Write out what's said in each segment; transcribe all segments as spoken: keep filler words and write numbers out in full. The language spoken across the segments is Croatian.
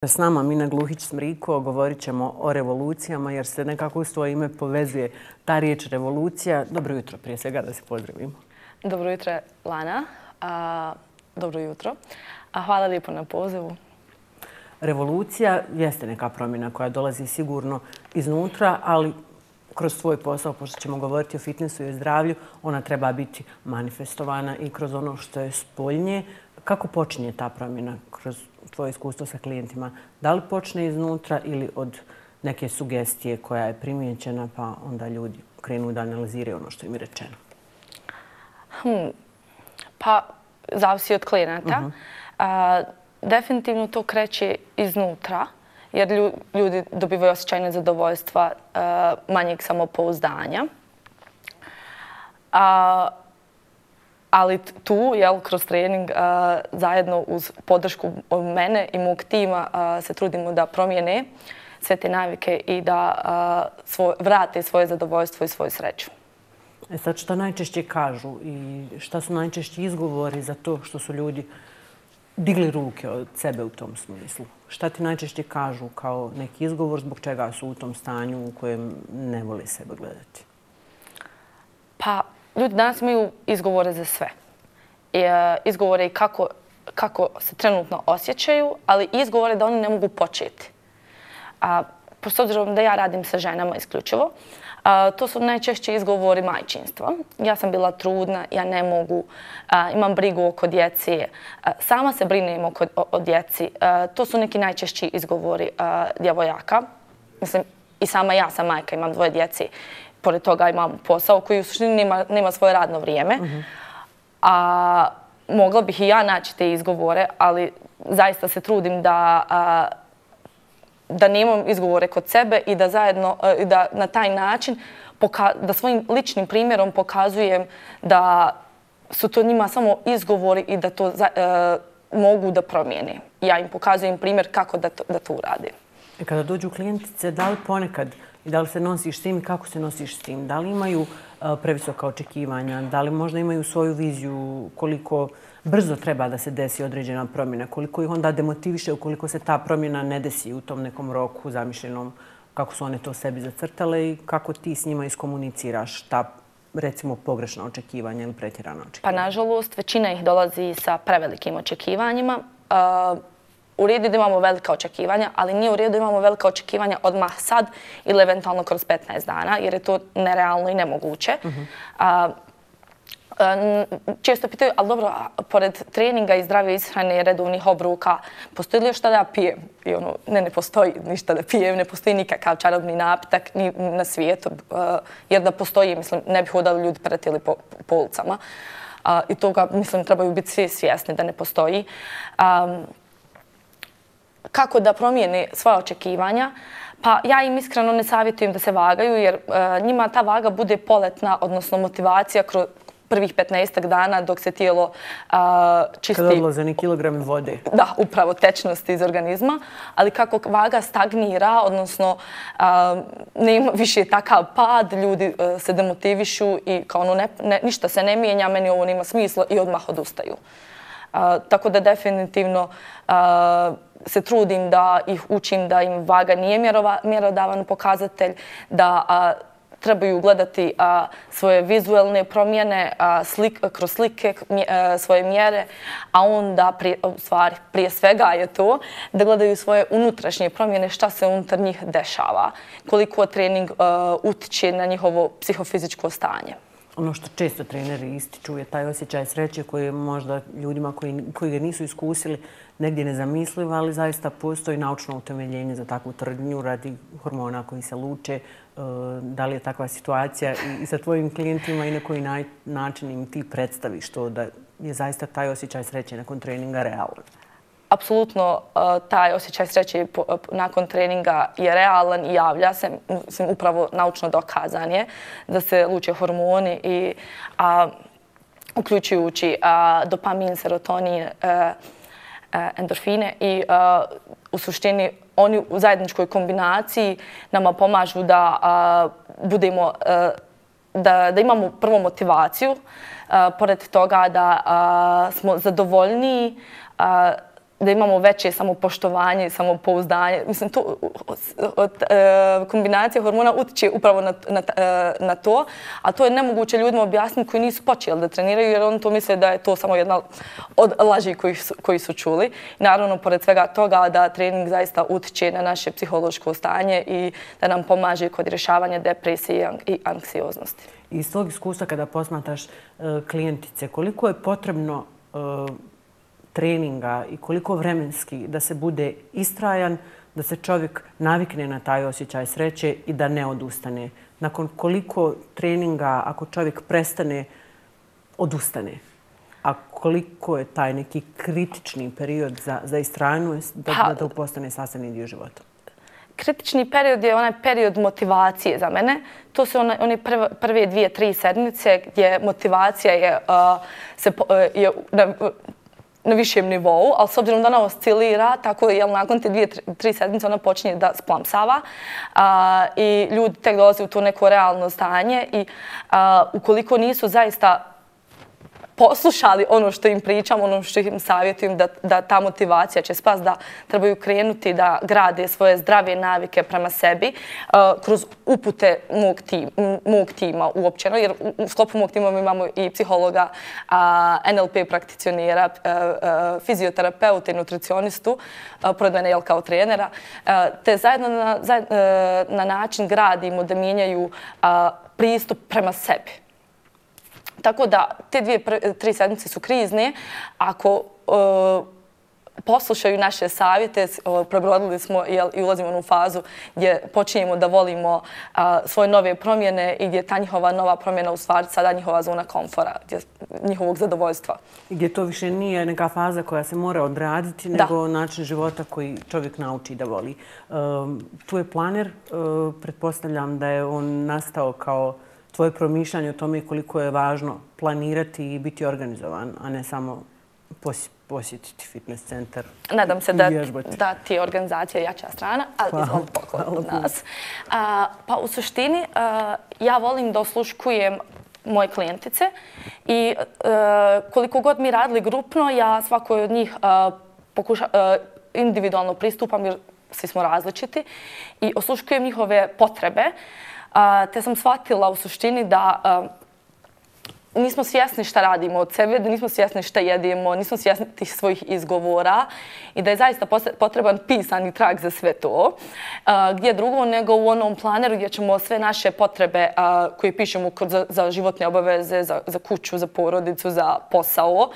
S nama Mina Gluhić-Smriko govorit ćemo o revolucijama jer se nekako u svoje ime povezuje ta riječ revolucija. Dobro jutro, prije svega da se pozdravimo. Dobro jutro, Lana. A, dobro jutro. A hvala lijepo na pozivu. Revolucija jeste neka promjena koja dolazi sigurno iznutra, ali kroz svoj posao, pošto ćemo govoriti o fitnessu i o zdravlju, ona treba biti manifestovana i kroz ono što je spoljnje. Kako počinje ta promjena kroz tvoje iskustvo sa klijentima? Da li počne iznutra ili od neke sugestije koja je primijećena pa onda ljudi krenu da analiziraju ono što im je rečeno? Hmm. Pa, zavisi od klijenata. Uh-huh. A, definitivno to kreće iznutra jer ljudi dobivaju osjećaj nezadovoljstva, a, manjeg samopouzdanja. A, Ali tu, jel, kroz trening, a, zajedno uz podršku mene i mog tima a, se trudimo da promijene sve te navike i da a, svoj, vrate svoje zadovoljstvo i svoju sreću. E sad, šta najčešće kažu i šta su najčešći izgovori za to što su ljudi digli ruke od sebe u tom smislu? Šta ti najčešće kažu kao neki izgovor zbog čega su u tom stanju u kojem ne vole sebe gledati? Pa, ljudi danas imaju izgovore za sve. I, uh, izgovore i kako, kako se trenutno osjećaju, ali izgovore da oni ne mogu početi. A, s obzirom da ja radim sa ženama isključivo, a, to su najčešće izgovori majčinstva. Ja sam bila trudna, ja ne mogu, a, imam brigu oko djeci, a, sama se brinem oko, o, o djeci. A, to su neki najčešći izgovori a, djevojaka. Mislim, i sama ja sam majka, imam dvoje djeci. Pored toga imam posao koji u suštini nema, nema svoje radno vrijeme. Uh-huh. A mogla bih i ja naći te izgovore, ali zaista se trudim da, a, da nemam izgovore kod sebe i da zajedno, a, da na taj način poka- da svojim ličnim primjerom pokazujem da su to njima samo izgovori i da to za, a, mogu da promijene. Ja im pokazujem primjer kako da to, da to uradim. E kada dođu klijentice, da li ponekad i da li se nosiš s tim i kako se nosiš s tim? Da li imaju uh, previsoka očekivanja? Da li možda imaju svoju viziju koliko brzo treba da se desi određena promjena? Koliko ih onda demotiviše ukoliko se ta promjena ne desi u tom nekom roku zamišljenom kako su one to sebi zacrtale i kako ti s njima iskomuniciraš ta recimo pogrešna očekivanja ili pretjerana očekivanja? Pa nažalost većina ih dolazi sa prevelikim očekivanjima. Uh, U redu da imamo velika očekivanja, ali nije u redu da imamo velika očekivanja odmah sad ili eventualno kroz petnaest dana, jer je to nerealno i nemoguće. Uh-huh. a, a, često pitaju, ali dobro, pored treninga i zdrave ishrane i redovnih obroka, postoji li još šta da ja pijem? I ono, ne, ne postoji ništa da pijem, ne postoji nikakav čarobni napitak ni na svijetu, a, jer da postoji, mislim, ne bi hodali ljudi pretili po, po ulicama. A, I toga, mislim, trebaju biti svi svjesni da ne postoji. A, Kako da promijene svoje očekivanja? Pa ja im iskreno ne savjetujem da se vagaju jer uh, njima ta vaga bude poletna, odnosno motivacija kroz prvih petnaestak dana dok se tijelo uh, čisti. Kada odlaze ni kilogrami vode. Da, upravo tečnosti iz organizma. Ali kako vaga stagnira, odnosno uh, nema više takav pad, ljudi uh, se demotivišu i kao ono ne, ne, ništa se ne mijenja, meni ovo nema smisla i odmah odustaju. Uh, tako da definitivno uh, se trudim da ih učim da im vaga nije mjerova, mjerodavan pokazatelj, da a, trebaju gledati a, svoje vizualne promjene a, slik, kroz slike, mje, a, svoje mjere, a onda prije, u stvari, prije svega je to da gledaju svoje unutrašnje promjene, šta se unutar njih dešava, koliko trening a, utiče na njihovo psihofizičko stanje. Ono što često treneri ističu je taj osjećaj sreće koji je možda ljudima koji, koji ga nisu iskusili negdje nezamisliv, ali zaista postoji naučno utemeljenje za takvu tvrdnju radi hormona koji se luče. Da li je takva situacija i sa tvojim klijentima i na koji način im ti predstaviš to da je zaista taj osjećaj sreće nakon treninga realan? Apsolutno taj osjećaj sreće nakon treninga je realan i javlja se, mislim, upravo naučno dokazan je da se luče hormoni i a, uključujući a, dopamin, serotonin, a, a, endorfine i a, u suštini oni u zajedničkoj kombinaciji nama pomažu da a, budemo a, da, da imamo prvo motivaciju, a, pored toga da a, smo zadovoljniji, a, da imamo veće samopoštovanje i samopouzdanje. Mislim, to, od, e, kombinacija hormona utiče upravo na, na, na to, a to je nemoguće ljudima objasniti koji nisu počeli da treniraju, jer oni to misle da je to samo jedna od laži koji su, koji su čuli. Naravno, pored svega toga, da trening zaista utiče na naše psihološko stanje i da nam pomaže kod rješavanja depresije i anksioznosti. Iz svog iskustva kada posmatraš uh, klijentice, koliko je potrebno uh, treninga i koliko vremenski da se bude istrajan, da se čovjek navikne na taj osjećaj sreće i da ne odustane? Nakon koliko treninga, ako čovjek prestane, odustane? A koliko je taj neki kritični period za, za istrajnost da, pa, da to postane sastavni dio života? Kritični period je onaj period motivacije za mene. To su one, one prve, prve dvije, tri sedmice gdje motivacija je, uh, se, uh, je na, na višem nivou, ali s obzirom da ona oscilira, tako je nakon te dvije, tri sedmice ona počinje da splamsava uh, i ljudi tek dolaze u to neko realno stanje i uh, ukoliko nisu zaista poslušali ono što im pričam, ono što im savjetujem, da, da ta motivacija će spasti, da trebaju krenuti da grade svoje zdrave navike prema sebi uh, kroz upute mog, tim, mog tima uopćeno, jer u, u sklopu mog tima mi imamo i psihologa, uh, N L P prakticionera, uh, uh, fizioterapeuta i nutricionistu, uh, pored mene jel kao trenera, uh, te zajedno na, zajed, uh, na način gradimo da mijenjaju uh, pristup prema sebi. Tako da te dvije, tri sedmice su krizne. Ako uh, poslušaju naše savjete, uh, prebrodili smo jel, i ulazimo u onu fazu gdje počinjemo da volimo uh, svoje nove promjene i gdje ta njihova nova promjena u stvari sada njihova zona komfora, gdje, njihovog zadovoljstva. I gdje to više nije neka faza koja se mora odraditi, da. nego način života koji čovjek nauči da voli. Um, tu je planer, uh, pretpostavljam da je on nastao kao tvoje promišljanje o tome koliko je važno planirati i biti organizovan, a ne samo posjetiti fitness centar. Nadam se da, da ti je organizacija jača strana, ali izvoli poklon od nas. A, pa u suštini a, ja volim da osluškujem moje klijentice i a, koliko god mi radili grupno, ja svakoj od njih a, pokuša, a, individualno pristupam jer svi smo različiti i osluškujem njihove potrebe. Uh, te sam shvatila u suštini da uh, nismo svjesni šta radimo od sebe, da nismo svjesni šta jedemo, nismo svjesni tih svojih izgovora i da je zaista potreban pisani trag za sve to. Uh, gdje drugo nego u onom planeru gdje ćemo sve naše potrebe uh, koje pišemo za, za životne obaveze, za, za kuću, za porodicu, za posao, uh,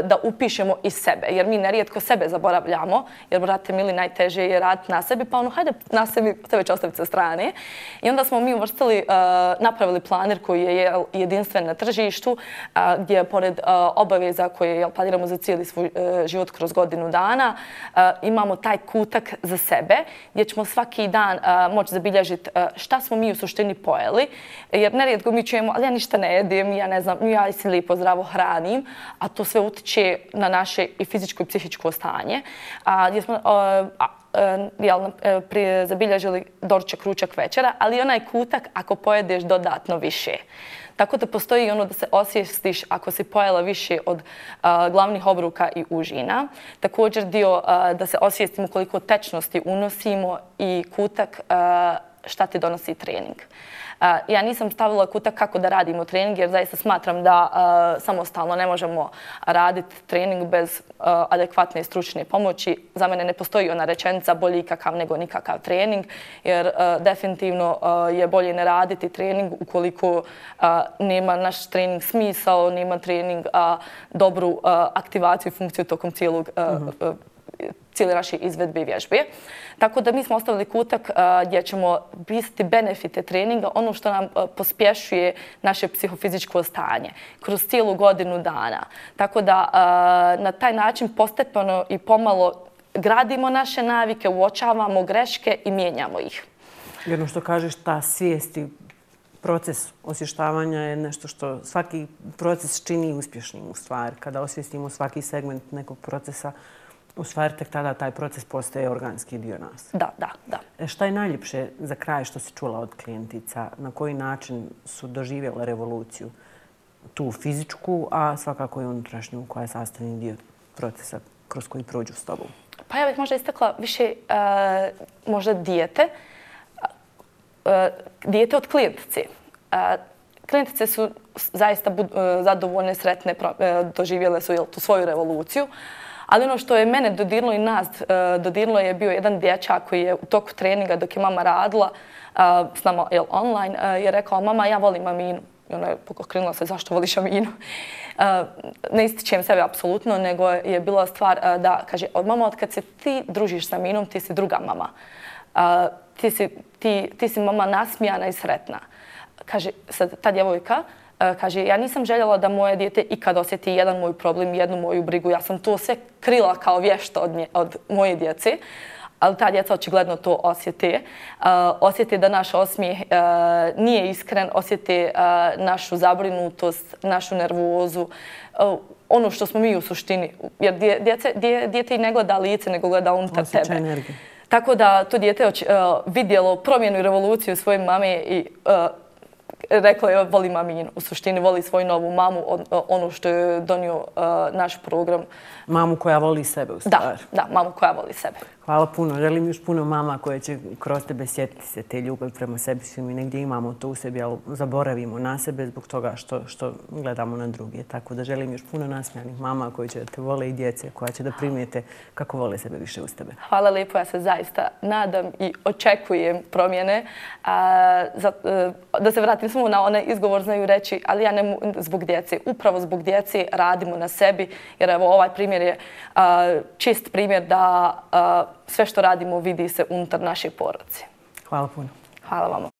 da upišemo iz sebe. Jer mi nerijetko sebe zaboravljamo, jer, brate mili, najteže je raditi na sebi, pa ono, hajde na sebi, tebe će ostaviti sa strane. I onda smo mi uvrstili, uh, napravili planer koji je jedinstven na tržištu, a, gdje pored a, obaveza koje jel, planiramo za cijeli svoj a, život kroz godinu dana, a, imamo taj kutak za sebe gdje ćemo svaki dan a, moći zabilježiti a, šta smo mi u suštini pojeli. Jer nerijetko mi čujemo, ali ja ništa ne jedem, ja ne znam, ja se lijepo zdravo hranim, a to sve utiče na naše i fizičko i psihičko stanje. A, gdje smo a, a, jel, prije zabilježili doručak, ručak, večera, ali onaj kutak ako pojedeš dodatno više. Tako da postoji ono da se osvijestiš ako si pojela više od uh, glavnih obroka i užina. Također dio uh, da se osvijestimo koliko tečnosti unosimo i kutak uh, šta ti donosi trening. Uh, ja nisam stavila kutak kako da radimo trening jer zaista smatram da uh, samostalno ne možemo raditi trening bez uh, adekvatne stručne pomoći. Za mene ne postoji ona rečenica bolji ikakav nego nikakav trening jer uh, definitivno uh, je bolje ne raditi trening ukoliko uh, nema naš trening smisao, nema trening uh, dobru uh, aktivaciju i funkciju tokom cijelog uh, uh-huh. uh, cijeli naše izvedbe i vježbe. Tako da mi smo ostavili kutak uh, gdje ćemo pisati benefite treninga, ono što nam uh, pospješuje naše psihofizičko stanje kroz cijelu godinu dana. Tako da uh, na taj način postepeno i pomalo gradimo naše navike, uočavamo greške i mijenjamo ih. Jedno što kažeš, ta svijest i proces osvještavanja je nešto što svaki proces čini uspješnim u stvari. Kada osvijestimo svaki segment nekog procesa, u stvari tek tada taj proces postaje organski dio nas. Da, da, da. E šta je najljepše za kraj što si čula od klijentica? Na koji način su doživjela revoluciju? Tu fizičku, a svakako i unutrašnju koja je sastavni dio procesa kroz koji prođu s tobom? Pa ja bih možda istakla više možda dijete. Dijete od klijentice. Klijentice su zaista zadovoljne, sretne, doživjele su tu svoju revoluciju. Ali ono što je mene dodirnulo i nas dodirnulo je bio jedan dječak koji je u toku treninga dok je mama radila s nama online je rekao: mama, ja volim Aminu. I ona je pokrenula se: zašto voliš Aminu? Ne ističem sebe apsolutno, nego je bila stvar da, kaže, mama, od kad se ti družiš sa Aminom, ti si druga mama. Ti si, ti, ti si mama nasmijana i sretna. Kaže, sad ta djevojka, kaže, ja nisam željela da moje dijete ikad osjeti jedan moj problem, jednu moju brigu. Ja sam to sve krila kao vješta od, nje, od moje djece, ali ta djeca očigledno to osjete. Uh, osjete da naš osmijeh uh, nije iskren, osjete uh, našu zabrinutost, našu nervozu, uh, ono što smo mi u suštini. Jer djece, dje, dijete i ne gleda lice, nego gleda unutar osjeća tebe. Energiju. Tako da to dijete uh, vidjelo promjenu i revoluciju svoje mame i uh, rekla je: volim Aminu. U suštini voli svoju novu mamu, ono što je donio uh, naš program. Mamu koja voli sebe u stvari. Da, da, mamu koja voli sebe. Hvala puno. Želim još puno mama koje će kroz tebe sjetiti se te ljubavi prema sebi. Svi mi negdje imamo to u sebi, ali zaboravimo na sebe zbog toga što, što gledamo na druge. Tako da želim još puno nasmijanih mama koje će da te vole i djece koja će da primijete kako vole sebe više uz tebe. Hvala lijepo. Ja se zaista nadam i očekujem promjene. A, za, da se vratim samo na onaj izgovor, znaju reći, ali ja ne zbog djece. Upravo zbog djece radimo na sebi, jer evo ovaj primjer je a, čist primjer da a, sve što radimo vidi se unutar naše porodice. Hvala puno. Hvala vama.